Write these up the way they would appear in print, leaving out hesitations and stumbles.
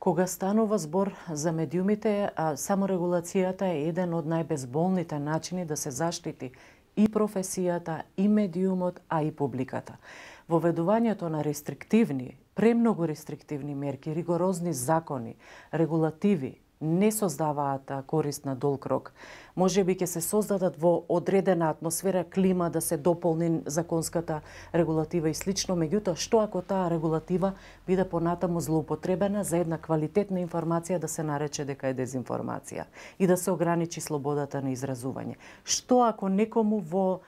Кога станува збор за медиумите, саморегулацијата е еден од најбезболните начини да се заштити и професијата, и медиумот, а и публиката. Воведувањето на рестриктивни, премногу рестриктивни мерки, ригорозни закони, регулативи не создаваат корист на долг рок. Може би ќе се создадат во одредена атмосфера, клима да се дополни законската регулатива и слично, меѓутоа што ако таа регулатива биде понатаму злоупотребена за една квалитетна информација да се нарече дека е дезинформација и да се ограничи слободата на изразување? Што ако некому во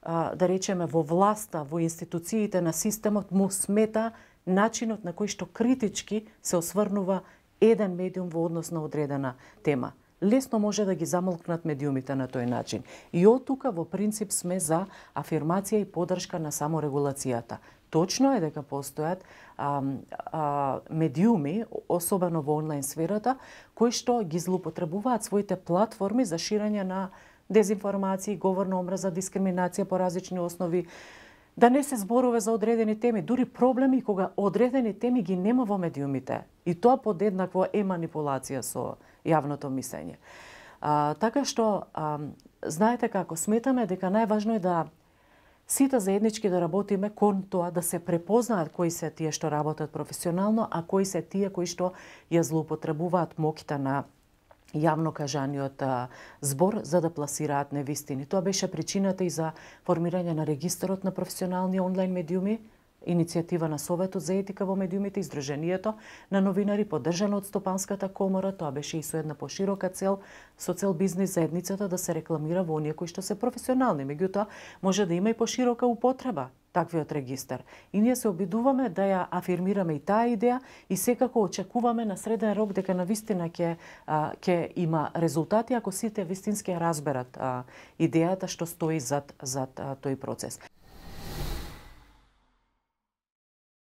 да речеме во власта, во институциите на системот му смета начинот на кој што критички се осврнува еден медиум во однос на одредена тема? Лесно може да ги замолкнат медиумите на тој начин. И од тука во принцип сме за афирмација и поддршка на саморегулацијата. Точно е дека постојат медиуми, особено во онлайн сферата, кои што ги злоупотребуваат своите платформи за ширење на дезинформации, говор на омраза, дискриминација по различни основи, да не се зборува за одредени теми, дури проблеми кога одредени теми ги нема во медиумите. И тоа подеднакво е манипулација со јавното мислење. Така што, знаете како, сметаме дека најважно е да сите заеднички да работиме кон тоа да се препознаат кои се тие што работат професионално, а кои се тие кои што ја злоупотребуваат моќта на јавно кажаниот збор за да пласираат невистини. Тоа беше причината и за формирање на регистарот на професионални онлайн медиуми, иницијатива на Советот за етика во медиумите, Издруженијето на новинари, поддржано од Стопанската комора. Тоа беше и со една поширока цел, со цел бизнис заедницата да се рекламира во оние кои што се професионални. Меѓутоа, може да има и поширока употреба таквиот регистар. И ние се обидуваме да ја афирмираме и таа идеја и секако очекуваме на среден рок дека навистина ќе има резултати ако сите вистински ја разберат идејата што стои зад тој процес.